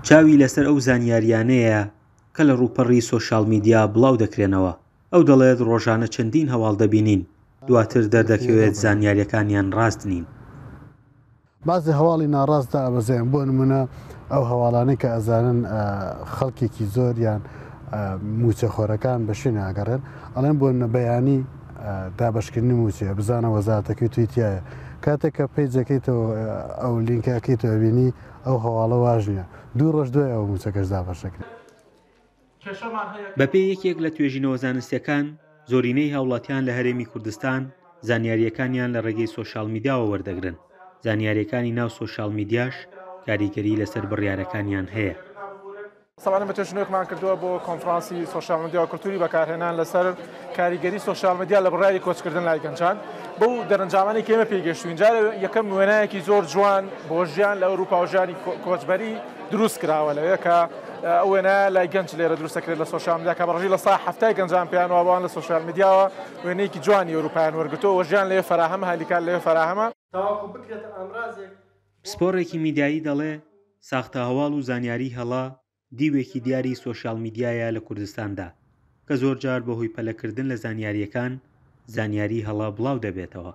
چاوی لەسەر ئەو زانیارییانەیە کە لە ڕووپەڕی سۆشیال میدیا بڵاو دەکرێنەوە. ئەو دەڵێت ڕۆژانە چەندین هەواڵ دەبینین، دواتر دەردەکەوێت زانیارییەکانیان ڕاست نین. بەعزێ هەواڵی ناڕاست دائەبەزێن بۆ نمونە ئەو هەواڵانەی کە ئەزانن خەڵکێکی زۆر یان موچەخۆرەکان بە شوێن ئاگەڕێن ئەڵێن بۆ بەیانی دابشکردنی موچەیە بزانە وەزارەتەکەی توی تایە کاتێک کە پەیجەکەیتەوە ئەو لینکەکەیتەوە بینی ئەو هەواڵە واژ نییە دوو ڕۆژ دوای ئەو موچەکەش دابەشەکرێت. بەپێی یەکێک لە توێژینەوە زانستیەکان، زۆرینەی هاوڵاتیان لە هەرێمی کوردستان زانیارییەکانیان لە ڕێگەی سۆشیال میدیاوە وەردەگرن، زانیارییەکانی ناو سۆشیال میدیاش کاریگەری لەسەر بڕیارەکانیان هەیە. ساڵانە بە توێژینەوەیەکمان کردووە بۆ کۆنفرانسی سۆشیال میدیا و کولتوری بەکارهێنان لەسەر کاریگەری سۆشیال میدیا لە بڕیاری کۆچکردن لای گەنجان بەو دەرەنجامانەی کە ئێمە پێی گەشتوین جارێ یەکەم وێنایەکی زۆر جوان بۆ ژیان لە ئەوروپا و ژیانی کۆچبەری دروست کراوە لەوێ کە ئەو وێنایە لای گەنج لێرە دروست دەکرێت لە سۆشیال میدیا کە بە ڕێژەی 70% گەنجان پێیان وابووان لە سۆشیال میدیاوە وێنەیەکی جوانی ئەوروپایان وەرگرتووە و ژیان لەوێ فەراهەمە هەلی کار لەوێ فەراهەمە. تاوەکو بکرێتە ئامرازێک بۆ. پسپۆڕێکی میدیایی دەڵێ، ساختە هەواڵ و زانیاریی هەڵە دیوێکی دیاری سۆشیال میدیایە لە کوردستاندا، کە زۆرجار بەهۆی پەلەکردن لە زانیارییەکان، زانیاری هەڵە بڵاو دەبێتەوە.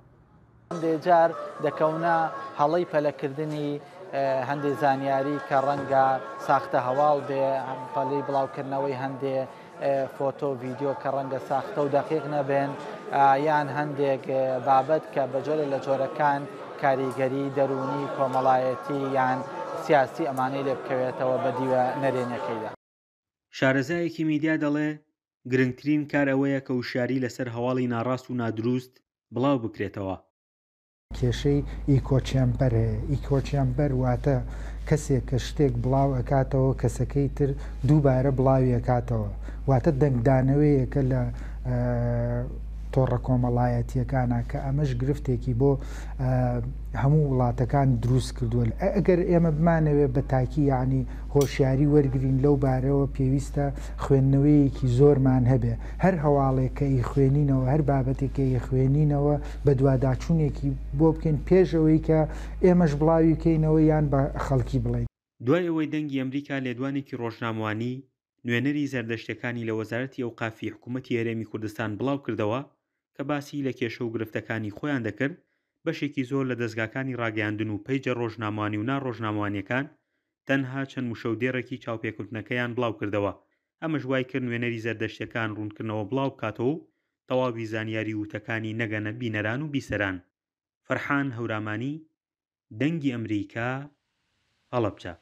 هەندێک جار دەکەونە هەڵەی پەلەکردنی هەندێک زانیاری کە ڕەنگە ساختە هەواڵ بێ، پەلەی بڵاوکردنەوەی هەندێ فۆتۆ و ڤیدیۆ کە ڕەنگە ساختە و دەقیق نەبن، یان هەندێک بابەت کە بە جۆرێک لە جۆرەکان کاریگەری دەروونی، کۆمەڵایەتی یان سیاسی ئەمانەی لێ بکەوێتەوە بە دیوە نەرێنیەکەیدا. شارەزایەکی میدیا دەڵێ، گرنگترین کار ئەوەیە کە وشیاری لەسەر هەواڵی ناڕاست و نادروست بڵاو بکرێتەوە. کێشەی echo chamber هەیە، echo chamber واتە کەسێک کە شتێک بڵاو ئەکاتەوە کەسەکەی تر دووبارە بڵاوی ئەکاتەوە واتە دەنگدانەوەیەکە لە تۆڕە کۆمەڵایەتیەکانە کە ئەمەش گرفتێکی بۆ هەموو وڵاتەکان دروست کردووە ئەگەر ئێمە بمانەوێت بە تاکی یعنی هۆشیاری وەرگین لەو بارەوە پێویستە خوێندنەوەیەکی زۆرمان هەبێ هەر هەواڵێک کە ئیخوێنینەوە هەر بابەتێک کە ئیخوێنینەوە بەدواداچوونێکی بۆ بکەین پێش ئەوەی کە ئێمەش بڵاوی بکەینەوە یان بە خەڵکی بڵێین. دوای ئەوەی دەنگی ئەمریکا لێدوانێکی ڕۆژنامەوانی نوێنەری زەردەشتیەکانی لە وەزارەتی ئەوقافی حکومەتی هەرێمی کوردستان بڵاوکردەوە کە باسی لە کێشە و گرفتەکانی خۆیان دەکرد، بەشێکی زۆر لە دەزگاکانی ڕاگەیاندن و پەیجە ڕۆژنامەوانی و نا ڕۆژنامەوانیەکان تەنها چەند وشە و دێڕێکی چاوپێکەوتنەکەیان بڵاوکردەوە، ئەمەش وایکرد نوێنەری زەردەشتیەکان ڕوونکردنەوە بڵاوبکاتەوە و تەواوی زانیاری و وتەکانی نەگەنە بینەران و بیسەران. فەرحان هەورامانی، دەنگی ئەمریکا، هەڵەبجە.